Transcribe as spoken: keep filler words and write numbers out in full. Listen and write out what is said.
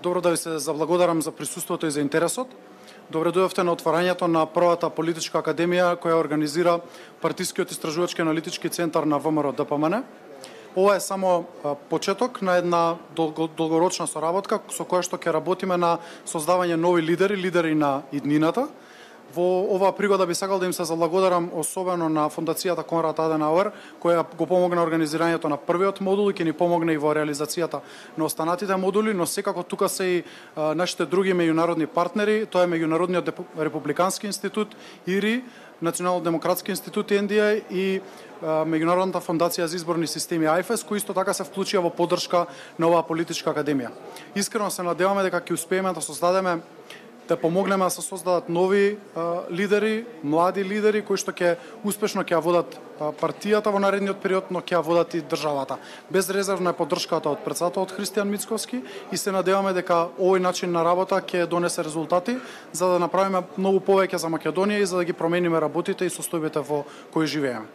Добро да ви се заблагодарам за присуството и за интересот. Добре дојдовте на отварањето на првата политичка академија која организира Партискиот истражувачки аналитички центар на ВМРО Д П М Н. Ова е само почеток на една долгорочна соработка со која што ќе работиме на создавање нови лидери, лидери на иднината. Во оваа пригода би сакал да им се заблагодарам особено на Фондацијата Конрад Аденауер, која го помогна организирањето на првиот модул и ќе ни помогне и во реализацијата на останатите модули, но секако тука се и а, нашите други меѓународни партнери, тоа е Меѓународниот републикански институт, И Р И, Национално демократски институт Н Д А и а, Меѓународната фондација за изборни системи А Ф С, кои исто така се вклучија во поддршка на оваа политичка академија. Искрено се надеваме дека ќе успееме да создадеме да помогнеме да се создадат нови а, лидери, млади лидери кои што ќе успешно ќе ја водат а, партијата во наредниот период, но ќе ја водат и државата. Безрезервна е поддршката од председателот Христијан Мицковски и се надеваме дека овој начин на работа ќе донесе резултати за да направиме многу повеќе за Македонија и за да ги промениме работите и состојбите во кои живееме.